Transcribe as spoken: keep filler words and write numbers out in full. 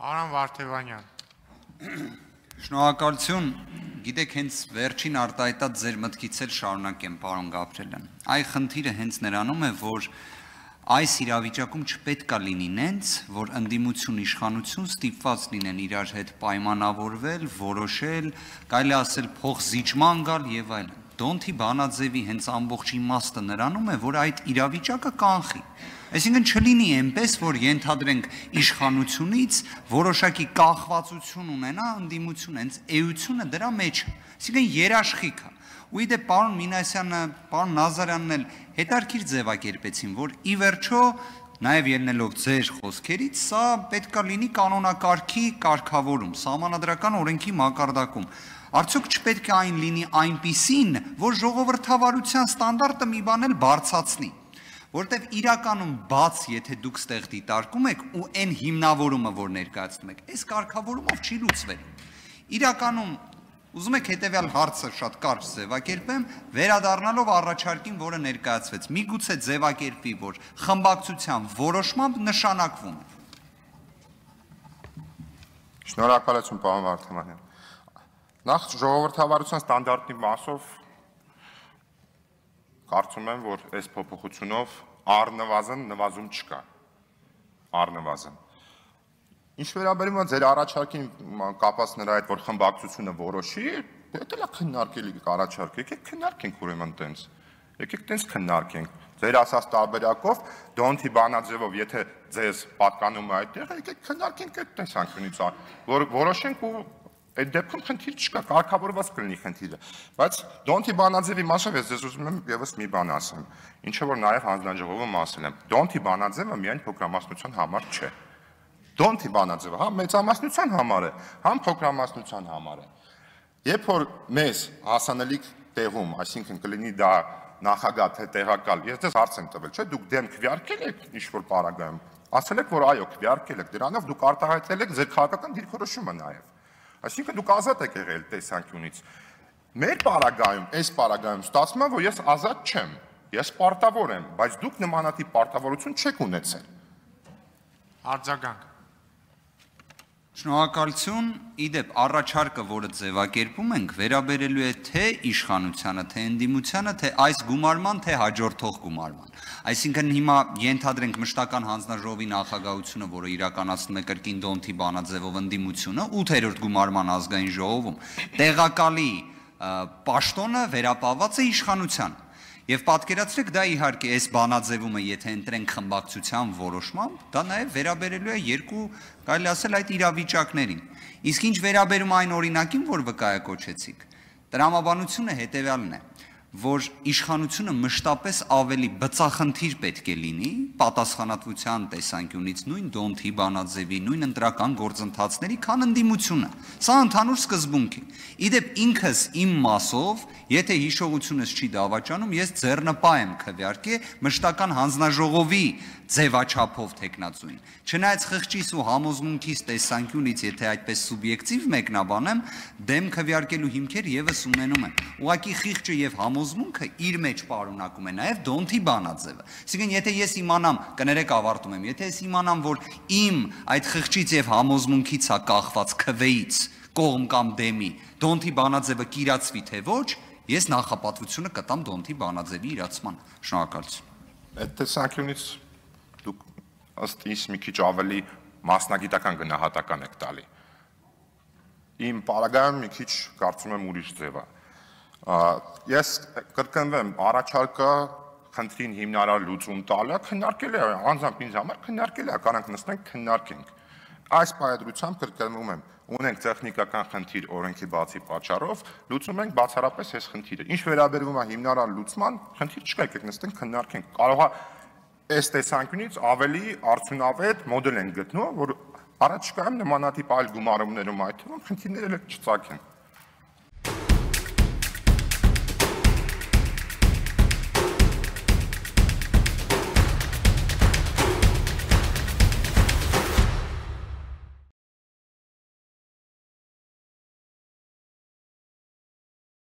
Արամ Վարդևանյան։ Շնորհակալություն, գիտեք, հենց վերջին արտահայտած ձեր մտքից էլ շարունակեմ, պարոն Գաբրելյան։ Այ խնդիրը հենց նրանում է, որ այս իրավիճակում չպետք է լինի նենց, որ ընդդիմություն իշխանություն ստիպված լինեն իրար հետ պայմանավորվել, որոշել, կարելի ասել փոխզիջման գալ եւ այլն։ Դոնթի Բանաձևի հենց ամբողջ իմաստը նրանում է, որ այդ իրավիճակը կանխի։ Այսինքն չլինի այնպես, որ ենթադրենք իշխանությունից որոշակի կախվածություն ունենա ընդդիմություն, հենց էությունը դրա մեջ է։ Այսինքն երաշխիքը։ Ու իդե պարոն Մինասյանը, պարոն Նազարյանն էլ հետարքիր ձևակերպեցին, որ ի վերջո նաև ելնելով ձեր խոսքերից, սա պետք է լինի կանոնակարգի կարգավորում, սահմանադրական օրենքի մակարդակում։ Արդյոք չպետք է այն լինի այնպիսին, որ ժողովրդավարության ստանդարտը մի բան էլ բարձրացնի, որտեվ իրականում բաց, եթե դուք ստեղ դիտարկում եք ու այն հիմնավորումը, որ ներկայացնում եք, այս կարգավորումով չի լուծվելու։ Իրականում ուզում եք հետևյալ հարցը շատ կարճ ձևակերպեմ, վերադառնալով առաջարկին, որը ներկայացվեց, միգուցե ձևակերպի, որ խմբակցության որոշմամբ նշանակվում է։ Շնորհակալություն, պարոն Վարդևանյան։ Նախ ժողովրդավարության ստանդարտի մասով կարծում եմ, որ այս փոփոխությունով առնվազն նվազում չկա, առնվազն։ Ինչ վերաբերում է ձեր առաջարկին կապված նրա հետ, որ խմբակցությունը որոշի, դա էլ քննարկելի առաջարկ, եկեք քննարկենք ուրեմն տենց, եկեք տենց քննարկենք, ձեր ասած տարբերակով, Դոնթի Բանաձևով, եթե ձեզ պատկանում է այդ տեղը, եկեք քննարկենք այդ տեսանկյունից, որ որոշենք ու այդ դեպքում խնդիր չկա, կարգավորված կլինի խնդիրը, բայց Դոնթի Բանաձևի մասով ես ձեզ ուզում եմ եւս մի բան ասեմ, ինչը որ նաեւ հանձնաժողովում ասել եմ, Դոնթի Բանաձևը միայն փոքրամասնության համար չէ։ Դոնթի Բանաձևը համ մեծամասնության համար է, համ փոքրամասնության համար է։ Երբ որ մեզ հասանելիք տեղում, այսինքն կլինի դա նախագահ թե տեղակալ, ես ձեզ հարց եմ տվել, չէ՞, դուք դեմ քվեարկել եք ինչ-որ պարագայում, ասել եք, որ այո, քվեարկել եք, դրանով դուք արտահայտել եք ձեր քաղաքական դիրքորոշումը նաեւ։ Այսինքն դուք ազատ եք եղել տեսանկյունից։ Մեր պարագայում, այս պարագայում ստացվում է, որ ես ազատ չեմ, ես պարտավոր եմ, բայց դուք նմանատիպ պարտավորություն չեք ունեցել։ Արձագանք։ Շնորհակալություն, իդեպ առաջարկը, որը ձևակերպում ենք, վերաբերելու է թե իշխանությանը, թե ընդդիմությանը, թե այս գումարման, թե հաջորդող գումարման։ Այսինքն հիմա ենթադրենք մշտական հանձնաժողովի նախագահությունը, որը իրականացնում է կրկին Դոնթի Բանաձևով ընդդիմությունը, ութերորդ գումարման ազգային ժողովում, տեղակալի պաշտոնը վերապահված է իշխանության։ Եվ պատկերացրեք, դա իհարկե այս բանաձևումը, եթե ընտրենք խմբակցության որոշմամբ, դա նաև վերաբերելու է երկու, կարելի ասել, այդ իրավիճակներին։ Իսկ ինչ վերաբերում այն օրինակին, որ վկայակոչեցիք, տրամաբանությունը հետևյալն է, որ իշխանությունը մշտապես ավելի բծախնդիր պետք է լինի պատասխանատվության տեսանկյունից նույն Դոնթի Բանաձևի, նույն ընտրական գործընթացների, քան ընդդիմությունը։ Սա ընդհանուր սկզբունք է։ Իդեպ ինքս իմ մասով, եթե հիշողությունս չի դավաճանում, ես ձեռնպահ եմ քվեարկե մշտական հանձնաժողովի ձևաչափով տեխնացուին։ Չնայած խղճիս ու համոզմունքիս տեսանկյունից, եթե այդպես սուբյեկտիվ մեկնաբանեմ, դեմ քվեարկելու հիմքեր եւս ունենում են։ Ուղղակի խիղճը եւ համոզմունքը իր մեջ պարունակում է նաեւ Դոնթի Բանաձևը։ Այսինքն, եթե ես իմանամ, կներեք ավարտում եմ, եթե ես իմանամ, որ իմ այդ խղճից եւ համոզմունքից է կախված քվեից կողմ կամ դեմի Դոնթի Բանաձևը կիրացվի թե ոչ, ես նախապատվությունը կտամ Դոնթի Բանաձևի իրացման։ Շնորհակալություն։ Այդ տեսանկյունից դուք ըստ ինձ մի քիչ ավելի մասնագիտական գնահատական եք տալի։ Իմ պարագայում մի քիչ կարծում եմ ուրիշ ձև է։ Ես կրկնվեմ, առաջարկը խնդրին հիմնարար լուծում տալը քննարկել է, անձամբ ինձ համար քննարկել է, կարանք նստենք քննարկենք։ Այս պայադրությամբ կրկնվում եմ, ունենք տեխնիկական խնդիր օրենքի բացի պատճառով, լուծում ենք բացառապես այս խնդիրը։ Ինչ վերաբերվում է հիմնարար լուծման, խնդիր չկա, եկեք նստենք քննարկենք։ Կարող է այս տեսանկյունից ավելի արդյունավետ մոդել ենք գտնում, որ առաջիկայում նմանատիպ այլ գումարումներում այդ թվում խնդիրները չծագեն։